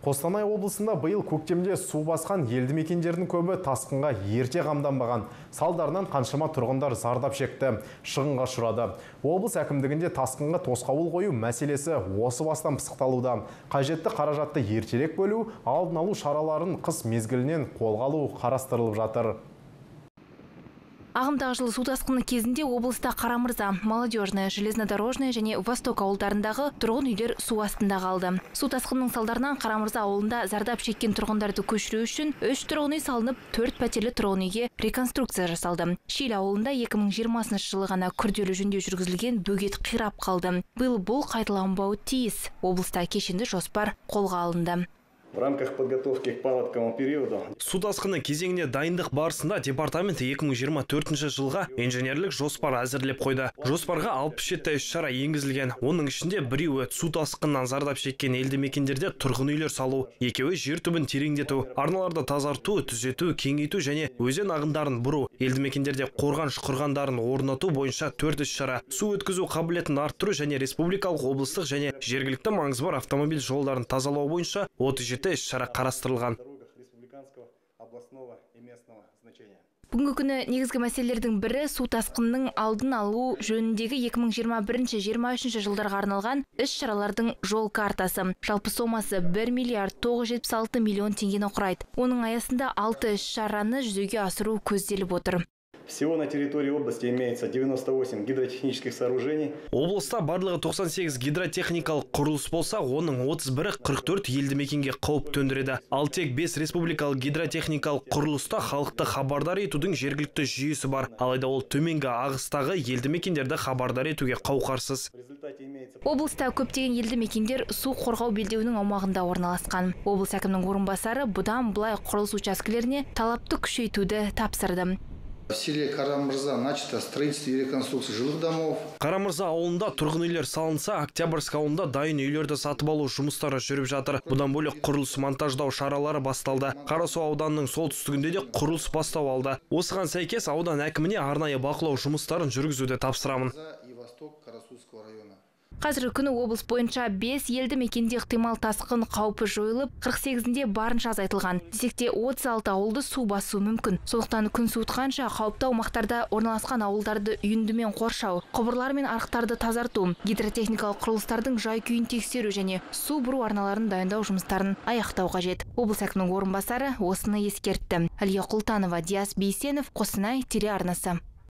Қостанай облысында биыл көктемде су басқан елді мекендердің көбі тасқынға ерте қамданбаған. Салдарынан қаншама тұрғындар зардап шекті, шығынға ұшырады. Облыс әкімдігінде тасқынға тосқауыл қою мәселесі осы бастан пысықталуда. Қажетті қаражатты ертерек бөлу, алдын алу шараларын қыс мезгілінен қолға алу қарастырылып жатыр. Ағымдағы жылы су тасқыны кезінде облыста Қарамырза, Молодежная, Железнодорожная және Восток ауылдарындағы тұрғын үйлер су астында қалды. Су тасқынының салдарынан Қарамырза ауылында зардап шеккен тұрғындарды көшіру үшін 3 тұрғын үй салынып, 4 пәтерлі тұрғын үйге реконструкция жасалды. Шил ауылында 2020 жылы ғана күрделі жөндеу жүргізілген бөгет қирап қалды. Биыл бұл қайталанбауы тиіс. Облыста кешенді жоспар қолға алынды. В рамках подготовки к паводковому периоду су тасқыны кезеңіне дайындық барысында департамент 2024 жылға инженерлік жоспар әзірлеп қойды. Жоспарға 67 іс-шара енгізілген. Оның ішінде біреуі су тасқынынан зардап шеккен елді мекендерде тұрғын үйлер салу, екеуі жер түбін тереңдету, арналарды тазарту, түзету, кеңейту және өзен ағындарын бұру, елді мекендерде қорғаныш құрғандарын орнату бойынша 4 іс-шара, су өткізу қабілетін арттыру және республикалық, облыстық және жергілікті маңызы бар автомобиль жолдарын тазалау бойынша 37 іс-шара қарастырылған. Бүгінгі күні негізгі мәселелердің бірі су тасқынының алдын алу жөніндегі 2021-2023 жылдарға арналған іс-шаралардың жол картасы. Жалпы сомасы 1 миллиард 976 миллион теңгені құрайды. Оның аясында 6 іс-шараны жүзеге асыру көзделіп отыр. Всего на территории области имеется 98 гидротехнических сооружений. Облыста барлығы 98 гидротехникалық құрылыс болса, оның 31-і 44 елді мекенге қауіп төндіреді. Ал тек 5 республикалық гидротехникалық құрылыста халықты хабардар етудің жергілікті жүйесі бар. Алайда ол төменгі ағыстағы елді мекендерді хабардар етуге қауқарсыз. Облыста көптеген елді мекендер су қорғау белдеуінің аумағында орналасқан. Облыс әкімінің орынбасары бұдан былай құрылыс учаскелеріне талапты күшейтуді тапсырды. В селе Қарамырза начато строительство и реконструкция жилых домов. Қарамырза ауылында тұрғын үйлер салынса, Октябрьск ауылында дайын үйлерді сатып алу жұмыстары жүріп жатыр. Бұдан бөлек құрылыс монтаждау шаралары басталды. Қарасу ауданының солтүстігінде де құрылыс бастау алды. Осыған сәйкес аудан әкіміне арнайы бақылау жұмыстарын жүргізуді тапсырамын. Қазіргі күні облыс бойынша 5 елді мекенде ықтимал тасқын қаупі жойылып, 48-інде барынша азайтылған. Десекте 36 ауылды су басу мүмкін. Сондықтан күн суытқанша қауіпті аумақтарда орналасқан ауылдарды үйіндімен қоршау, құбырлар мен арықтарды тазарту, гидротехникалық құрылыстардың жай-күйін тексеру және су бұру арналарын дайындау жұмыстарын аяқтау қажет. Облыс әкімінің орынбасары осыны ескертті. Әлия Құлтанова, Диас Бейсенов, Қостанай телеарнасы.